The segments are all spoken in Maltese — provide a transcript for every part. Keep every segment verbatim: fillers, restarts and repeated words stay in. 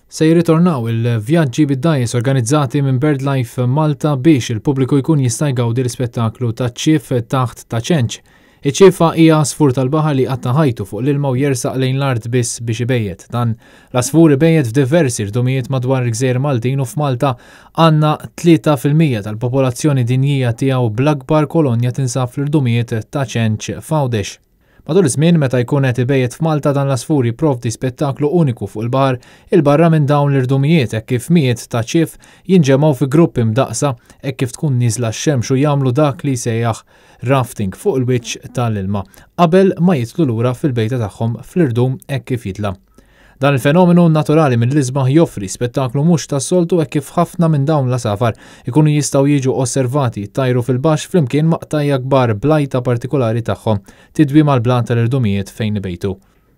Se jirritornaw il-vjaġġi bid-dgħajjes organizzati minn BirdLife Malta biex il-pubbliku jkun jista' jgawdi l-ispettaklu ta' ċief taħt Ta' Ċenċ. Iċ-ċiefa hija għasfur tal-baħar li qatta' ħajtu fuq l-ilma u jersaq lejn l-art biss biex ibejjet. Dan l-għasfur ibejjet f'diversi rdumijiet madwar il-Gżejjer Maltin u f'Malta għandna tlieta fil-mija tal-popolazzjoni dinjija tiegħu, bl-akbar kolonja tinsab fl-irdumijiet Ta' Ċenċ f'Għawdex. Matul iż-żmien meta jkun qed ibejjet f'Malta, dan l-għasfur jipprovdi spettaklu uniku fuq il-baħar 'il barra minn dawn l-irdumijiet, hekk kif mijiet ta' ċief jinġemgħu fi gruppi mdaqsa hekk kif tkun niżla x-xemx u jagħmlu dak li jsejjaħ rafting fuq il-wiċċ tal-ilma qabel ma jitlu lura fil-bejta tagħhom fl-irdum hekk kif jitla'. Dan il-fenomenu naturali mill-isbaħ joffri spettaklu mhux tas-soltu, hekk kif ħafna minn dawn l-għasafar ikunu jistgħu jiġu osservati jtajru fil-baxx flimkien ma' qtajja' kbar bl-għajta partikolari tagħhom tidwi mal-blat tal-irdumijiet fejn ibejtu.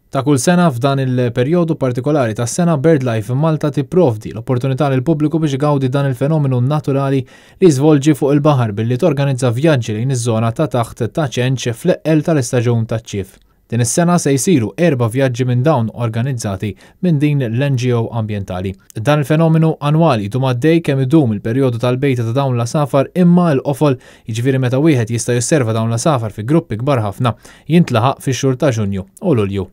Ta' kull sena, f'dan il-perjodu partikolari tas sena, BirdLife Malta tipprovdi l-opportunità lil pubbliku biex igawdi dan il-fenomenu naturali li jiżvolġi fuq il-baħar billi torganizza vjaġġi lejn iż-żona ta' taħt Ta' Ċenċ fl-eqqel tal-istaġun taċ-ċief. Din is-sena se jsiru erba' vjaġġi minn dawn organizzati minn din l-N G O ambientali. Dan il-fenomenu annwali jdum għaddej kemm idum il-perjodu tal-bejta ta' dawn l-għasafar, imma l-qofol, jiġifieri meta wieħed jista' josserva dawn l-għasafar fi gruppi kbar ħafna, jintlaħaq fix-xhur ta' Ġunju u Lulju.